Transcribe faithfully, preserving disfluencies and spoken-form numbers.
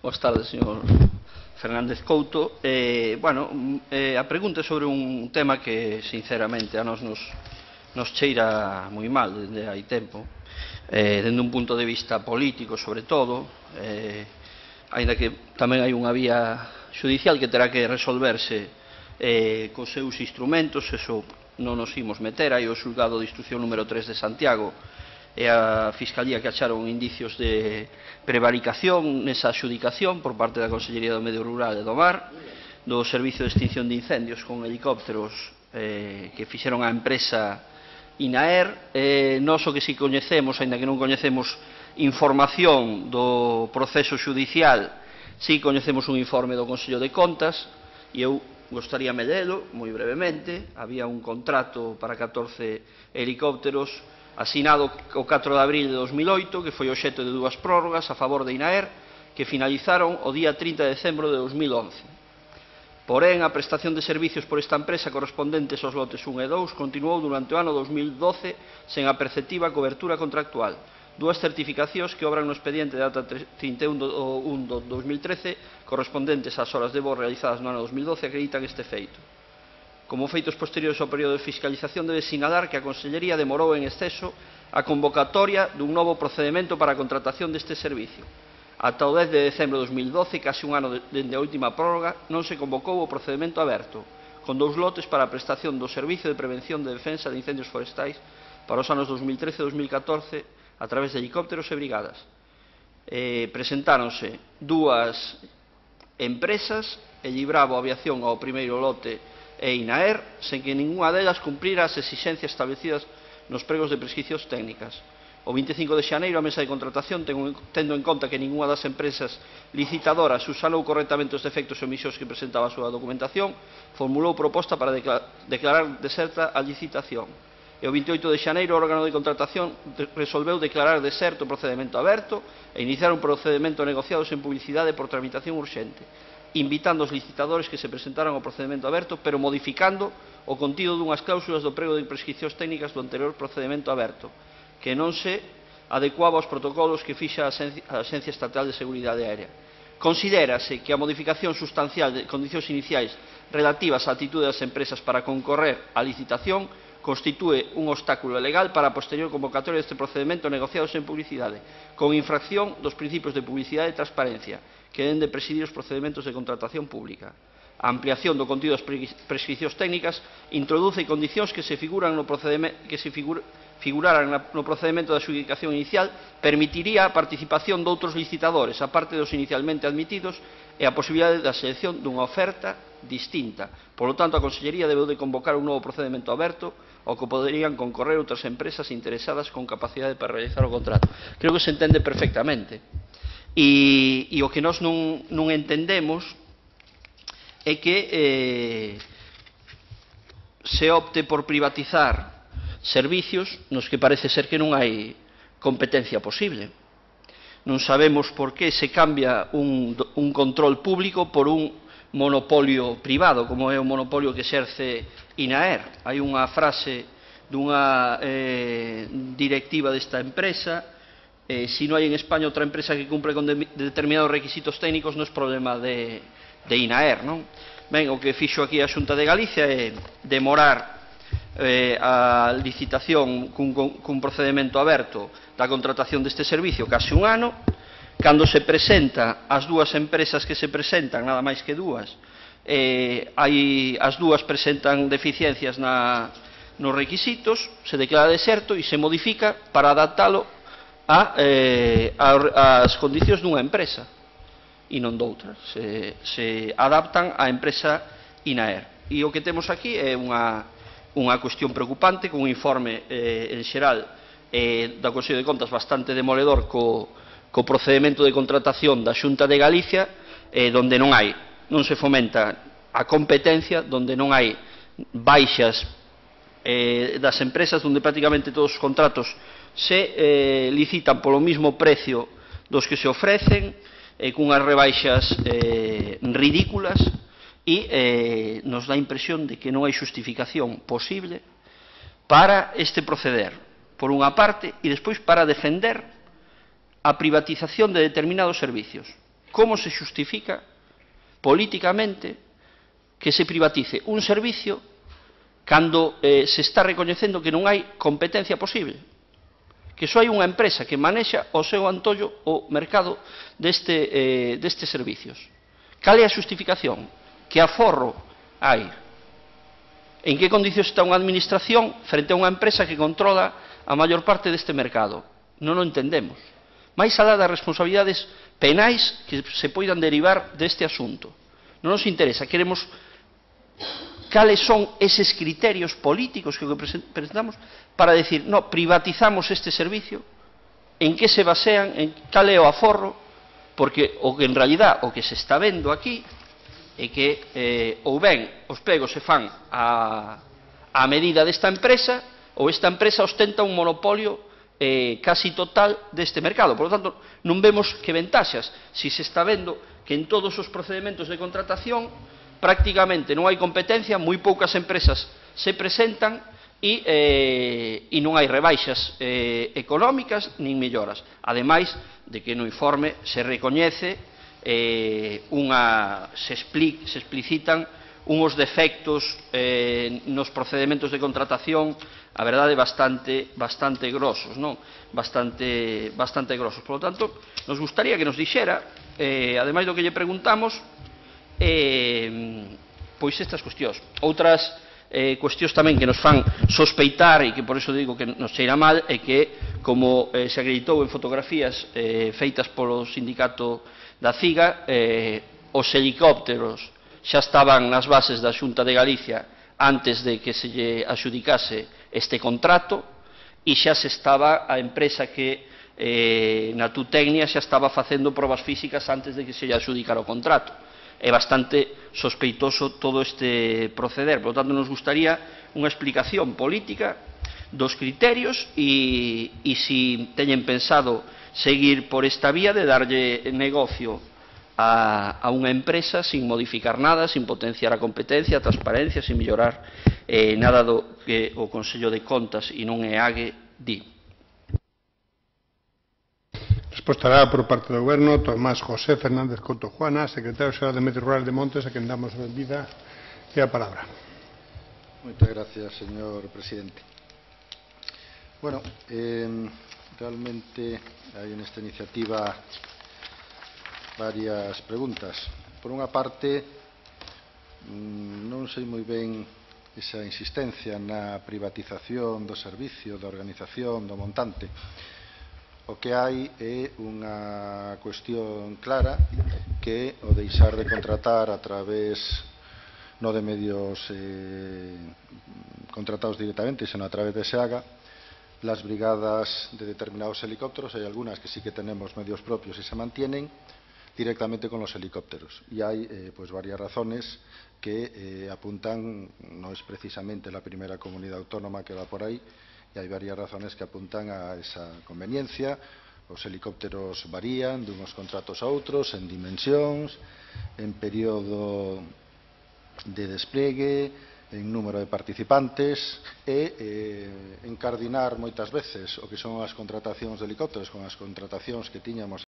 Boas tardes, señor Fernández Couto. Eh, bueno, eh, a pregunta é sobre un tema que, sinceramente, a nos nos, nos cheira moi mal desde hai tempo, eh, dende un punto de vista político, sobre todo, eh, aínda que tamén hai unha vía judicial que terá que resolverse eh, cos seus instrumentos, eso non nos imos meter. Hai o xulgado de instrucción número tres de Santiago e a Fiscalía que acharon indicios de prevaricación nesa adxudicación por parte da Consellería do Medio Rural e do Mar, do Servicio de Extinción de Incendios con helicópteros eh, que fixeron a empresa INAER. Eh, nós o que si coñecemos, aínda que non coñecemos información do proceso judicial, si coñecemos un informe do Consello de Contas, e eu gostaríame lelo moi brevemente. Había un contrato para catorce helicópteros asinado o catro de abril de dos mil oito, que foi obxecto de dúas prórrogas a favor de INAER, que finalizaron o día trinta de decembro de dos mil once. Porén, a prestación de servicios por esta empresa correspondentes aos lotes un e dous continuou durante o ano dos mil doce sen a perceptiva cobertura contractual. Dúas certificacións que obran no expediente de data trinta e un de dos mil trece correspondentes ás horas de voo realizadas no ano dos mil doce acreditan este feito. Como feitos posteriores ao período de fiscalización, debe sinalar que a Consellería demorou en exceso a convocatoria dun novo procedimento para a contratación deste servicio. Ata o dez de decembro de dos mil doce, case un ano dende a última prórroga, non se convocou o procedimento aberto, con dous lotes para a prestación do Servicio de Prevención de Defensa de Incendios Forestais para os anos dos mil trece e dos mil catorce a través de helicópteros e brigadas. Eh, presentáronse dúas empresas, Elibravo Aviación ao primeiro lote e INAER, sen que ninguna delas cumprira as exixencias establecidas nos pregos de prescricións técnicas. O vinte e cinco de xaneiro, a mesa de contratación, tendo en conta que ninguna das empresas licitadoras usanou correctamente os defectos e omisións que presentaba a súa documentación, formulou proposta para declarar deserta a licitación. E o vinte e oito de xaneiro, o órgano de contratación resolveu declarar deserto o procedimento aberto e iniciar un procedimento negociado sen publicidade por tramitación urxente, invitando os licitadores que se presentaran ao procedimento aberto, pero modificando o contido dunhas cláusulas do prego de prescricións técnicas do anterior procedimento aberto, que non se adecuaba aos protocolos que fixa a Axencia Estatal de Seguridade Aérea. Considérase que a modificación sustancial de condicións iniciais relativas á actitude das empresas para concorrer á licitación constitúe un obstáculo legal para a posterior convocatoria deste procedimento negociado sen publicidade, con infracción dos principios de publicidade e transparencia que deben de presidir os procedimentos de contratación pública. A ampliación do contido das prescricións técnicas introduce condicións que se figuran no procedimento que se figur, figuraran no procedimento de adxudicación inicial, permitiría a participación de outros licitadores, aparte dos inicialmente admitidos, e a posibilidade da selección dunha oferta distinta. Por lo tanto, a Consellería debeu de convocar un novo procedimento aberto ao que poderían concorrer outras empresas interesadas con capacidade para realizar o contrato. Creo que se entende perfectamente. E, e o que nós non, non entendemos é que eh, se opte por privatizar servicios nos que parece ser que non hai competencia posible. Non sabemos por que se cambia un, un control público por un monopolio privado, como é o monopolio que exerce INAER. Hai unha frase dunha eh, directiva desta empresa: eh, si non hai en España outra empresa que cumpre con de, determinados requisitos técnicos, non é problema de, de INAER, non? Ben, o que fixo aquí a Xunta de Galicia é demorar eh, a licitación cun, cun procedimento aberto da contratación deste servicio case un ano. Cando se presenta as dúas empresas que se presentan, nada máis que dúas, eh, hai, as dúas presentan deficiencias na, nos requisitos, se declara deserto e se modifica para adaptalo a, eh, a, as condicións dunha empresa e non doutras. Se, se adaptan á empresa INAER. E o que temos aquí é unha, unha cuestión preocupante, con un informe eh, en xeral eh, da Consello de Contas bastante demoledor co co procedimento de contratación da Xunta de Galicia, eh, donde non hai, non se fomenta a competencia, donde non hai baixas eh, das empresas, onde prácticamente todos os contratos se eh, licitan polo mismo precio dos que se ofrecen, eh, cunhas rebaixas eh, ridículas, e eh, nos dá a impresión de que non hai justificación posible para este proceder, por unha parte, e despois para defender a privatización de determinados servicios. como se xustifica políticamente que se privatice un servicio cando eh, se está recoñecendo que non hai competencia posible, que só hai unha empresa que manexa o seu antollo o mercado deste, eh, destes servicios. Cal é a xustificación? Que aforro hai? En que condicións está unha administración frente a unha empresa que controla a maior parte deste mercado? Non o entendemos. Mais alá das responsabilidades penais que se poidan derivar deste asunto. Non nos interesa, queremos cales son eses criterios políticos que presentamos para decir, no, privatizamos este servicio, en que se basean, en cal é o aforro, porque o que en realidad o que se está vendo aquí é que eh, ou ben os pegos se fan a, a medida desta empresa ou esta empresa ostenta un monopolio eh, casi total deste mercado. Por lo tanto, non vemos que ventaxas si se está vendo que en todos os procedementos de contratación prácticamente non hai competencia, moi poucas empresas se presentan e, eh, e non hai rebaixas eh, económicas nin melloras. Ademais de que no informe se recoñece, eh, unha, se, expli, se explicitan uns defectos eh, nos procedementos de contratación, a verdade, bastante, bastante grosos, non? Bastante, bastante grosos. Por lo tanto, nos gustaría que nos dixera, eh, ademais do que lle preguntamos, Eh, pois estas cuestións. Outras eh, cuestións tamén que nos fan sospeitar e que por eso digo que nos cheira mal é que, como eh, se acreditou en fotografías eh, feitas polo sindicato da CIGA, eh, os helicópteros xa estaban nas bases da Xunta de Galicia antes de que se lle axudicase este contrato e xa se estaba a empresa que eh, na Tutecnia xa estaba facendo probas físicas antes de que se lle axudicara o contrato. É bastante sospeitoso todo este proceder. Por lo tanto, nos gustaría unha explicación política dos criterios e, e si teñen pensado seguir por esta vía de darlle negocio a, a unha empresa sin modificar nada, sin potenciar a competencia, a transparencia, sin mellorar eh, nada do que o Consello de Contas e non E A G di. Respostará por parte do Goberno Tomás José Fernández Couto Juana, secretario xeral de Medio Rural de Montes, a quen damos a benvida e a palabra. Moitas gracias, señor presidente. Bueno, eh, realmente hai nesta iniciativa varias preguntas. Por unha parte, non sei moi ben esa insistencia na privatización do servicio, da organización, do montante. O que hai é unha cuestión clara, que o deixar de contratar a través non de medios eh, contratados directamente, senón a través de SEAGA, las brigadas de determinados helicópteros. Hai algunhas que sí que tenemos medios propios e se mantienen directamente con los helicópteros. Y hay eh, pues varias razones que eh, apuntan, no es precisamente la primera comunidad autónoma que va por ahí, y hay varias razones que apuntan a esa conveniencia. Os helicópteros varían de unos contratos a outros, en dimensións, en período de despliegue, en número de participantes, e eh, encardinar moitas veces o que son as contratacións de helicópteros con as contratacións que tiñamos